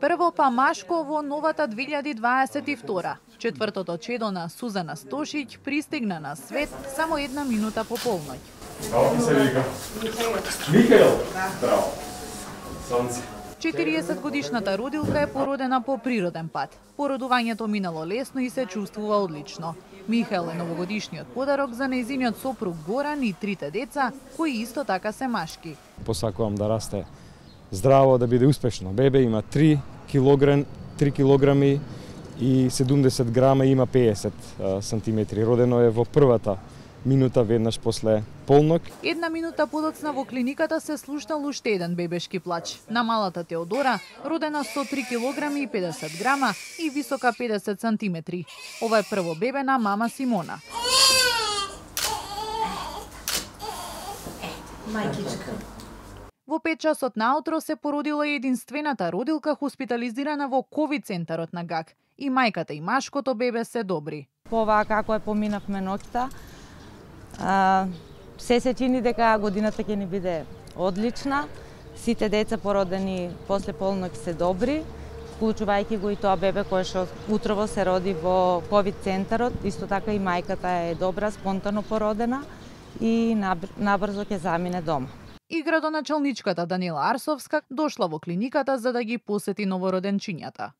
Прво па машко во новата 2022. Четвртото чедо на Сузана Стошиќ пристигна на свет само 1 минута по полноќ. Како се вика? Михаел. Браво. Сонце. 40-годишната родилка е породена по природен пат. Породувањето минало лесно и се чувствува одлично. Михаел е новогодишниот подарок за нејзиниот сопруг Горан и 3 деца, кои исто така се машки. Посакувам да расте здраво, да биде успешно. Бебе има 3 килограми и 70 грама, има 50 сантиметри. Родено е во првата минута веднаш после полнок. 1 минута подоцна во клиниката се слушнал уште еден бебешки плач. На малата Теодора, родена со 3 килограми и 50 грама и висока 50 сантиметри. Ова е прво бебе на мама Симона. Мајкичка. Во 5 часот наутро се породила единствената родилка хоспитализирана во ковид центарот на ГАК. И мајката и машкото бебе се добри. По оваа како е поминавме ноќта, се чини дека годината ќе ни биде одлична. Сите деца породени после полноќ се добри, вклучувајќи го и тоа бебе кое што утрово се роди во ковид центарот. Исто така и мајката е добра, спонтано породена и набрзо ќе замине дома. И градоначалничката Данила Арсовска дошла во клиниката за да ги посети новороденчињата.